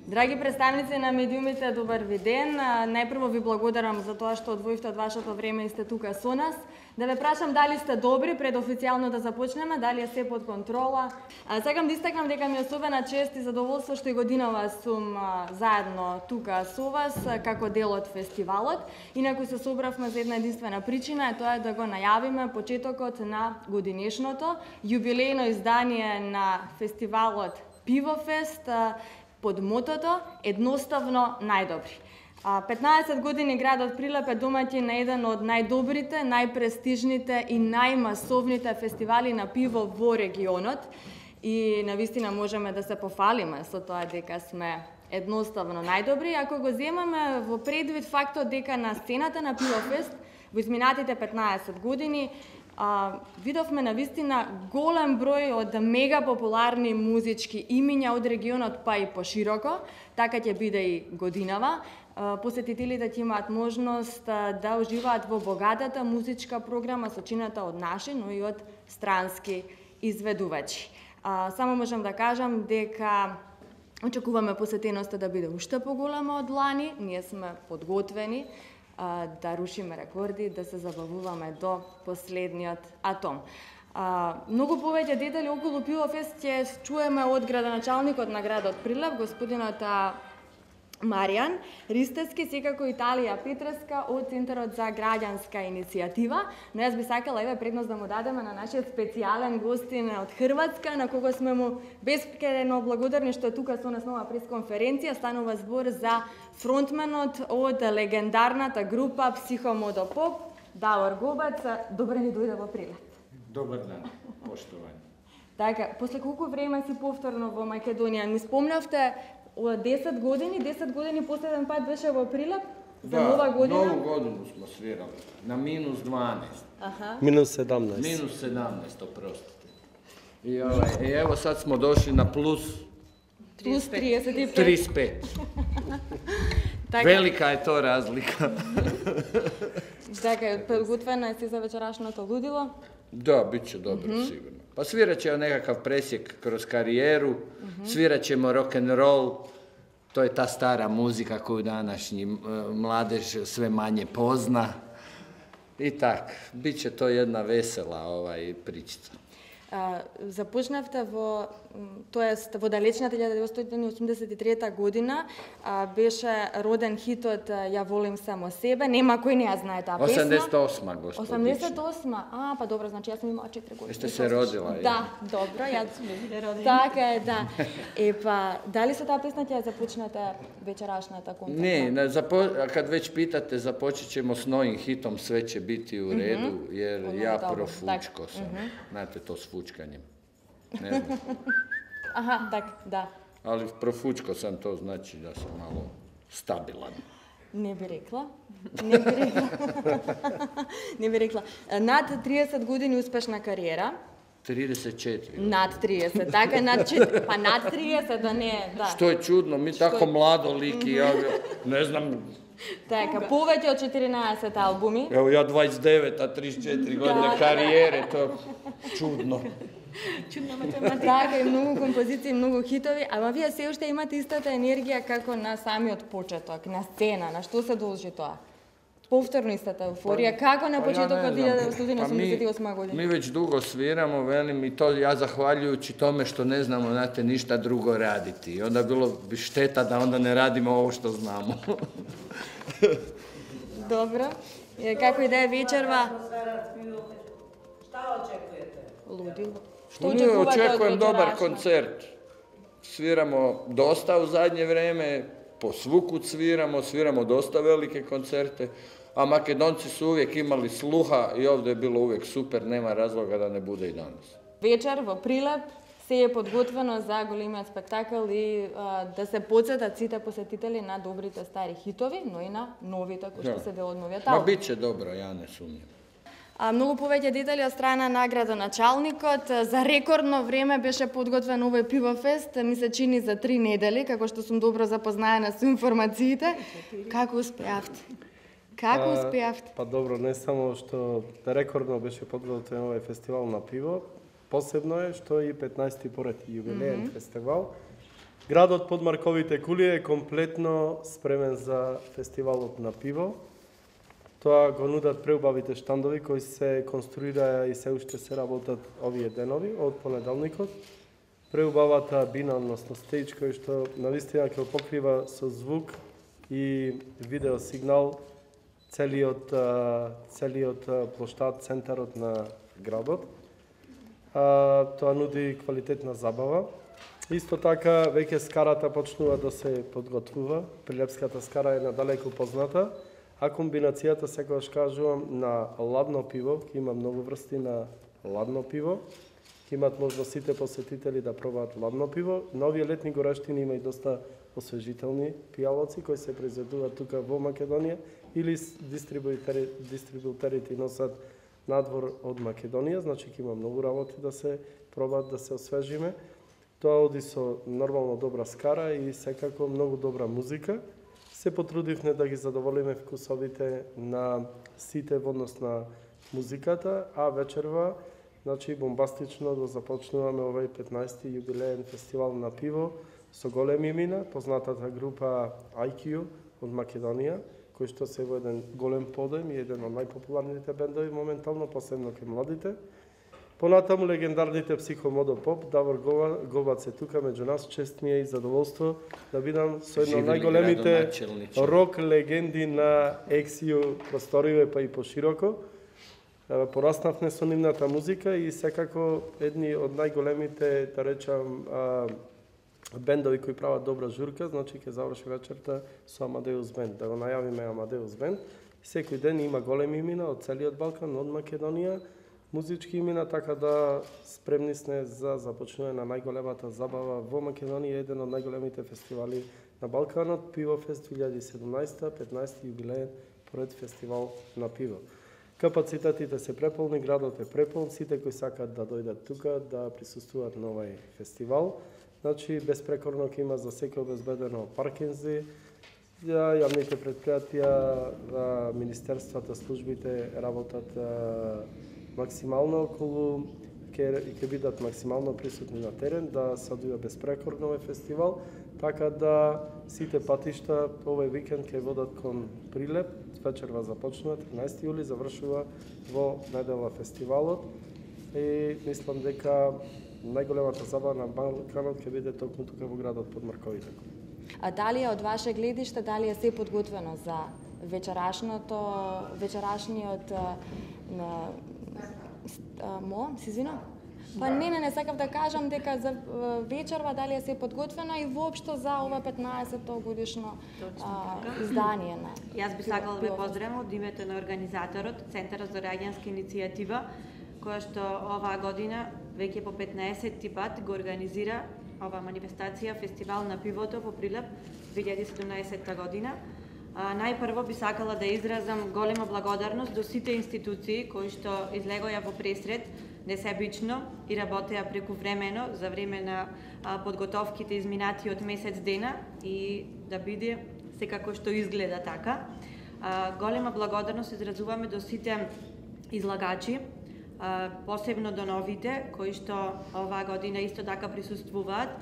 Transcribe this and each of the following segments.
Драги представници на медиумите, добар ви ден. Најпрво ви благодарам за тоа што одвоивте од вашето време и сте тука со нас. Да ве прашам дали сте добри пред официјално да започнеме, дали е се под контрола. Сакам да истакнам дека ми е особена чест и задоволство што и годинава сум заедно тука со вас како дел од фестивалот. Инаку се собравме за една единствена причина, тоа е да го најавиме почетокот на годинешното јубилејно издание на фестивалот Пивофест под мотото едноставно најдобри. 15 години градот Прилеп е домаќин на еден од најдобрите, најпрестижните и најмасовните фестивали на пиво во регионот и навистина можеме да се пофалиме со тоа дека сме едноставно најдобри, ако го земаме во предвид фактот дека на сцената на Пивофест во изминатите 15 години видовме навистина голем број од мега популарни музички имиња од регионот па и пошироко, така ќе биде и годинава. Посетителите ќе имаат можност да уживаат во богатата музичка програма сочината од наши, но и од странски изведувачи. Само можам да кажам дека очекуваме посетеноста да биде уште поголема од лани, ние сме подготвени да рушиме рекорди, да се забавуваме до последниот атом. Многу повеќе детали околу Пивофест ќе чуеме од градоначалникот на градот Прилеп, господинот Маријан Ристевски, секако Италија Петреска од Центарот за граѓанска иницијатива. Но јас би сакала еве предност да му дадеме на нашиот специјален гостин од Хрватска, на кого сме му бескрено благодарни што е тука со нас на оваа пресконференција. Станува збор за фронтменот од легендарната група Психомодопоп, Давор Гобац. Добре ни дојде во Прилеп. Добар ден, поштовани. Така, после колку време си повторно во Македонија? Ми спомнавте 10 години последен пат беше во Прилеп за нова година? Да, нову годину смо свирали, на минус 12. Минус 17. Минус 17, опростите. И ево сад смо дошли на плюс 35. Велика е тоа разлика. Така, подготвена си за вечерашното лудило? Да, биće dobro, sigurno. Pa svirat ćemo nekakav presjek kroz karijeru, svirat ćemo rock'n'roll, to je ta stara muzika koju današnji mladež sve manje pozna. I tak, bit će to jedna vesela pričica. Започнавте во, тоест во далечната 1983 година беше роден хитот Ја волим само себе. Нема кој не ја знае таа песна. 88, господи. 88? Па добро, значи јас сум имала 4 години. Сте се родила? Да, добро, јас сум родена. Така е, да. Епа, дали со таа песна ќе започнете вечерашната концерта? Не, kad već pitate, započet ćemo s novim hitom, sve će biti u redu, jer ja profučko sam. Znate to s fučkanjem. Ne znam. Aha, tak, da. Ali profučko sam, to znači da sam malo stabilan. Не би рекла. Не би рекла. Над 30 години успешна кариера. 34. Над 30, така, над 4, па над 30, да не, да. Što je čudno, mi tako mlado liki, ja ne znam. Така, повеќе од 14 албуми. Evo ja 29, a 34 godine karijere, to čudno. Чудна математика. Така, и многу композиции, многу хитови, ама вие се уште имате истата енергија како на самиот почеток, на сцена, на што се должи тоа? Повторно истата еуфорија, како на почетокот 1988 година? Mi već dugo sviramo, velim, i to ja zahvaljujući tome što ne znamo, znate, ništa drugo raditi. I onda bilo bi šteta da onda ne radimo ovo što znamo. Dobro. Како и да е вечерва? Šta očekujete? Ludilo. Što očekujem dobar koncert. Sviramo dosta u zadnje vreme, po svukud sviramo dosta velike koncerte, a Makedonci su uvijek imali sluha i ovdje je bilo uvijek super, nema razloga da ne bude i danas. Вечер во Прилеп се е подготвено за големиот спектакл и да се подсетат сите посетители на добрите стари хитови, но и на новите кои што се дел од новиот албум. Ma bit će dobro, ja ne sumnjam. Многу повеќе детали од страна на градоначалникот. За рекордно време беше подготвен овој Пивофест, ми се чини за 3 недели, како што сум добро запознаена со информациите. Како успеавте? Како успеавте? Па добро, не само што рекордно беше подготвен овој фестивал на пиво, посебно е што и 15-ти поред јубилеен фестивал Градот под Марковите кули е комплетно спремен за фестивалот на пиво. Тоа го нудат преубавите штандови кои се конструираа и се уште се работат овие денови од понеделникот. Преубавата бина, односно стејдж, кој што навистина ќе покрива со звук и видео сигнал целиот плоштад, центарот на градот. Тоа нуди квалитетна забава. Исто така, веќе скарата почнува да се подготвува. Прилепската скара е надалеку позната, а комбинацијата, секогаш кажувам, на ладно пиво, ќе има многу врсти на ладно пиво, ќе имат можност сите посетители да пробаат ладно пиво. На овие летни горештини има и доста освежителни пијалоци кои се произведуваат тука во Македонија или дистрибутерите носат надвор од Македонија, значи ќе има многу работи да се пробаат, да се освежиме. Тоа оди со нормално добра скара и секако многу добра музика. Се потрудивме да ги задоволиме вкусовите на сите во однос на музиката, а вечерва, значи бомбастично да започнуваме овој 15-ти јубилеен фестивал на пиво со големи имена, познатата група IQ од Македонија, кој што се во еден голем подем и еден од најпопуларните бендови моментално, посебно кај младите. Понатаму легендарните Психомодо Поп, Давор Гобац е тука меѓу нас, чест ми е и задоволство да видам со едно од најголемите рок легенди на ексију просториве па и пошироко. Пораснавме со нивната музика и секако едни од најголемите, да речам, бендови кои прават добра журка, значи ќе заврши вечерта со Амадеус Бенд. Да го најавиме Амадеус Бенд. Секој ден има големи имена од целиот Балкан, од Македонија, музички имена, така да спремни сме за започнување на најголемата забава во Македонија, еден од најголемите фестивали на Балканот, Пивофест 2017, 15 јубилеен поред фестивал на пиво. Капацитетите се преполни, градот е преполн, сите кои сакат да дојдат тука да присуствуваат на овој фестивал. Значи, безпрекорно ќе има за секој обезбедено паркинзи, јавните предпријатија, министерствата, службите работат максимално околу, ќе бидат максимално присутни на терен, да се одвива безпрекорно овој фестивал, така да сите патишта овој викенд ќе водат кон Прилеп, вечерва започнува, 13 јули, завршува во недела фестивалот и мислам дека најголемата забава на Балканот ќе биде токму тука во градот под Марковите. А дали е од ваше гледиште, дали е се подготвено за вечерашниот се извинам? Па не сакав да кажам дека за вечерва дали е се подготвено и воопшто за ова 15-то годишно издание на. Јас би сакала да ве поздравам од името на организаторот, Центарот за раѓанска иницијатива, која што оваа година веќе по 15-ти пат го организира ова манифестација Фестивал на пивото во Прилеп 2017 година. Најпрво би сакала да изразам голема благодарност до сите институции кои што излегоја во пресред несебично и работеа прекувремено за време на подготовките изминатиот месец дена и да биде секако што изгледа така. Голема благодарност изразуваме до сите излагачи, посебно до новите кои што оваа година исто така присуствуваат.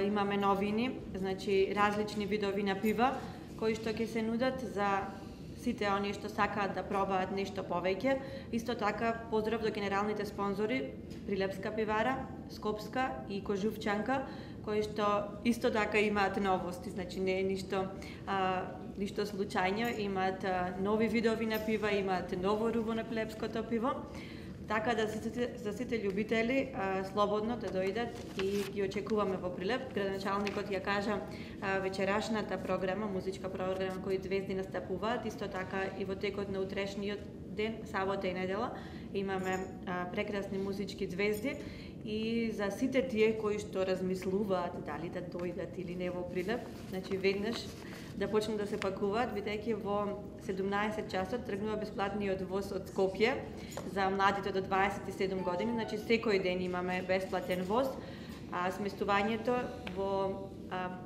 Имаме новини, значи различни видови на пива кои што ќе се нудат за сите оние што сакаат да пробаат нешто повеќе. Исто така поздрав до генералните спонзори Прилепска пивара, Скопска и Кожувчанка, кои што исто така имаат новости, значи не е ништо случајно, имаат нови видови на пива, имаат ново руво на прилепското пиво. Така да за сите љубители слободно да дојдат и ги очекуваме во Прилеп. Градоначалникот ја кажа вечерашната програма, музичка програма кои звезди настапуваат, исто така и во текот на утрешниот ден, сабота и недела, имаме прекрасни музички звезди и за сите тие кои што размислуваат дали да дојдат или не во Прилеп, значи веднаш да почнат да се пакуваат, бидејќи во 17 часот тргнува бесплатниот воз од Скопје за младите до 27 години, значи секој ден имаме бесплатен воз. Сместувањето во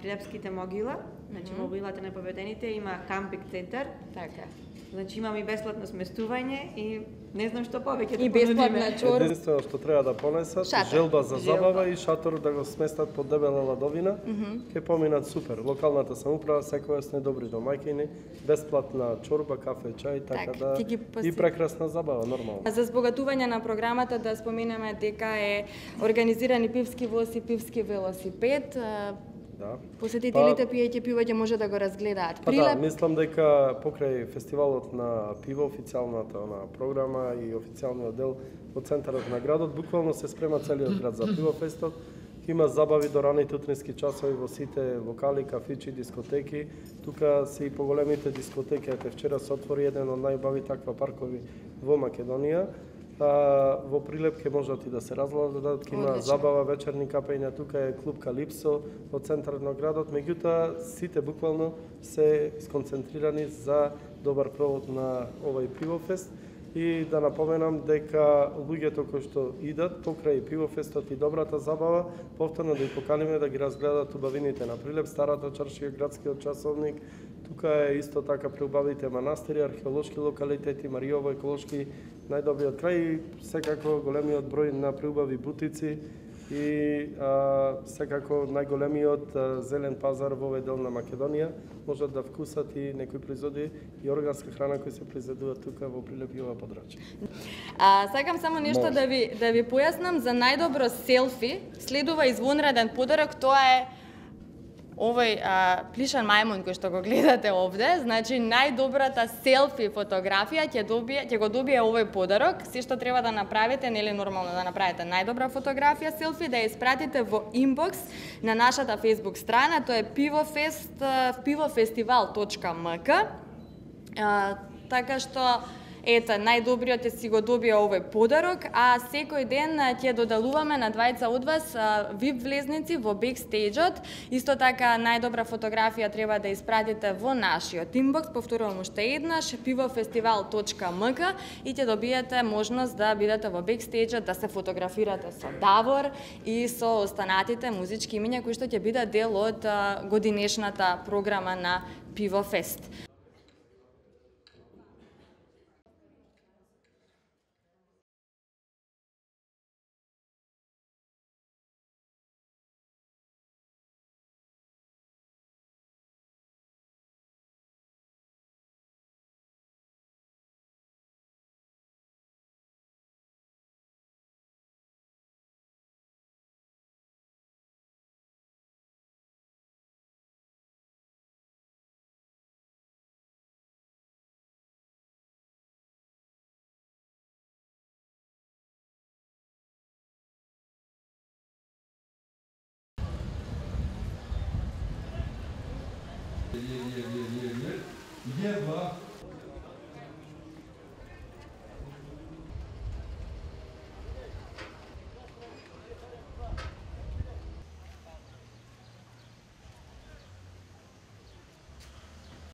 Прилепските могила, значи во могилата на победените има кампинг центар. Така. Значи имаме и бесплатно сместување и не знам што повеќе И да бесплатна понудиме. чорба. Единствено што треба да понесат, Шатор. желба за забава Желба. и шатор да го сместат под дебела ладовина, ќе поминат супер. Локалната самоуправа секогаш сме добри домаќини, бесплатна чорба, кафе, чај, така Так, да ти ги и прекрасна забава нормално. За збогатување на програмата да споменеме дека е организирани пивски воз и пивски велосипед. Да. Посетителите пиејќи пиво ќе може да го разгледаат. Па да, мислам дека покрај фестивалот на пиво, официјалната програма и официјалниот дел од центарот на градот, буквално се спрема целиот град за пивофестот. Има забави до раните утрински часови во сите локали, кафичи, дискотеки. Тука се и поголемите дискотеки. Ете, вчера се отвори еден од најубави таква паркови во Македонија. Во Прилеп ќе можат и да се разгledат, ќе има Одлично. забава, вечерни капења, тука е клуб Калипсо во центарот на градот, меѓутоа сите буквално се сконцентрирани за добар провод на овој пивофест и да напоменам дека луѓето кои што идат покрај пивофестот и добрата забава, повторно да ги поканиме да ги разгледат убавините на Прилеп, старата чаршија, градскиот часовник. Тука е исто така преубавите манастири, археолошки локалитети, Мариово еколошки најдобриот крај и секако големиот број на преубави бутици и секако најголемиот зелен пазар во овој дел на Македонија. Можат да вкусат и некои производи и органска храна кои се произведуваат тука во Прилеп и ова подрачје. Сакам само нешто да ви појаснам за најдобро селфи. Следува извонреден подарок, тоа е овој плишан мајмун кој што го гледате овде. Значи најдобрата селфи фотографија ќе го добие овој подарок. Се што треба да направите, нели нормално да направите најдобра фотографија селфи, да ја испратите во инбокс на нашата Facebook страна, тоа е pivofestival.mk. Така што ете, најдобриот си го добија овој подарок, а секој ден ќе додалуваме на двајца од вас VIP влезници во бекстејџот. Исто така најдобра фотографија треба да испратите во нашиот инбокс, повторувам уште еднаш, pivofestival.mk и ќе добиете можност да бидете во бекстејџот, да се фотографирате со Давор и со останатите музички имиња кои што ќе бидат дел од годинешната програма на Пивофест. Jedva